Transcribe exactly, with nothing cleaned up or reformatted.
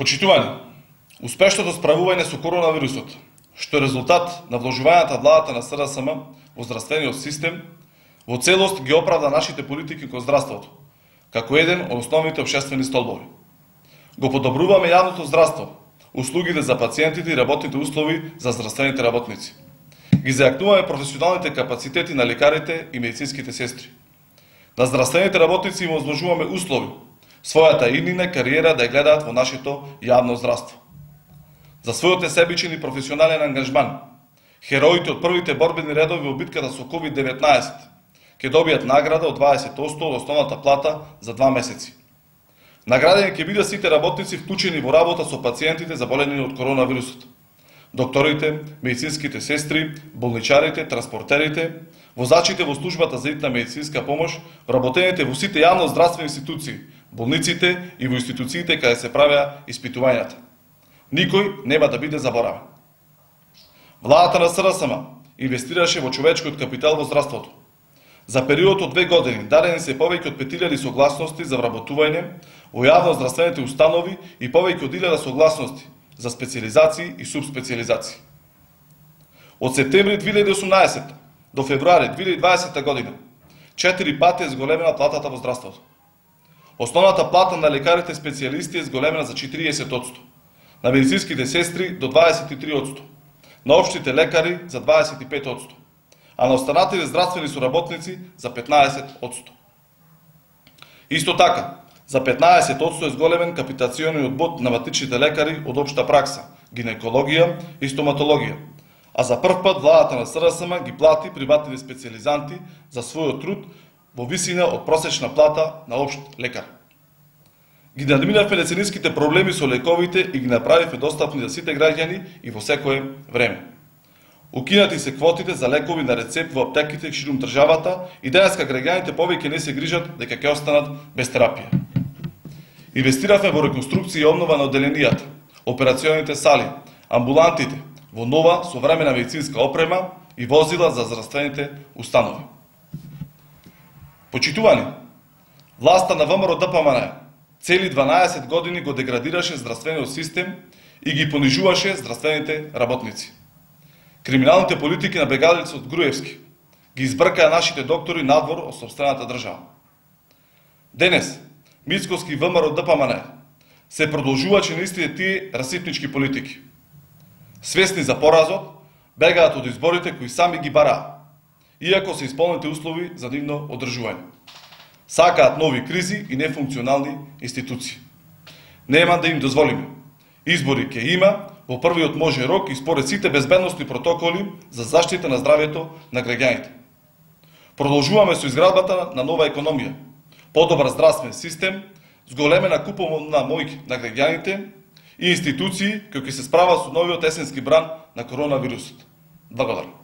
Почитувани, успешното справување со коронавирусот, што е резултат на вложувањата владата на СРСМ во здравствениот систем, во целост ги оправда нашите политики кон здравството, како еден од основните општествени столбови. Го подобруваме јавното здравство, услугите за пациентите и работните услови за здравствените работници. Ги зајакнуваме професионалните капацитети на лекарите и медицинските сестри. На здравствените работници им возможуваме услови, својата иднина кариера да ја гледаат во нашето јавно здравство. За својот несебичен и професионален ангажман, хероите од првите борбени редови во битката со ковид деветнаесет ќе добијат награда од дваесет одсто од основната плата за два месеци. Наградени ќе бидат сите работници вклучени во работа со пациентите заболени од коронавирусот. Докторите, медицинските сестри, болничарите, транспортерите, возачите во службата за итна медицинска помош, вработените во сите јавно здравствени институции, болниците и во институциите каде се правеа испитувањата. Никој нема да биде заборавен. Владата на СРСМ инвестираше во човечкиот капитал во здравството. За период од две години дадени се повеќе од пет илјади согласности за вработување во јавно здравствените установи и повеќе од илјада согласности за специализации и субспециализации. Од септември две илјади и осумнаесетта до февруари две илјади и дваесетта година четири пати е зголемена платата во здравството. Основната плата на лекарите специјалисти е зголемена за четириесет одсто, на медицинските сестри до дваесет и три одсто, на општите лекари за дваесет и пет одсто, а на останатите здравствени соработници за петнаесет одсто. Исто така, за петнаесет одсто е зголемен капитациониот бод на матичните лекари од општа пракса, гинекологија и стоматологија, а за прв пат владата на СРСМ ги плати приватните специјализанти за својот труд во висина од просечна плата на општ лекар. Ги надминавме децениските проблеми со лековите и ги направивме достапни за сите граѓани и во секое време. Укинати се квотите за лекови на рецепт во аптеките ширум државата и денеска граѓаните повеќе не се грижат дека ќе останат без терапија. Инвестиравме во реконструкција и обнова на одделенијата, операционите сали, амбулантите, во нова современа медицинска опрема и возила за здравствените установи. Почитувани, власта на ВМРО Д П М Н цели дванаесет години го деградираше здравствениот систем и ги понижуваше здравствените работници. Криминалните политики на бегалецот Груевски ги избркаа нашите доктори надвор од сопствената држава. Денес, Мицкоски ВМРО Д П М Н се продолжувачи на истите тие расипнички политики. Свесни за поразот, бегаат од изборите кои сами ги бараа, иако се исполнените услови за нивно одржување. Сакаат нови кризи и нефункционални институции. Нема да им дозволиме. Избори ќе има во првиот можен рок и според сите безбедносни протоколи за заштита на здравјето на граѓаните. Продолжуваме со изградбата на нова економија, подобар здравствен систем, зголемена куповна моќ на граѓаните и институции кои ќе се справат со новиот есенски бран на коронавирусот. Благодарам.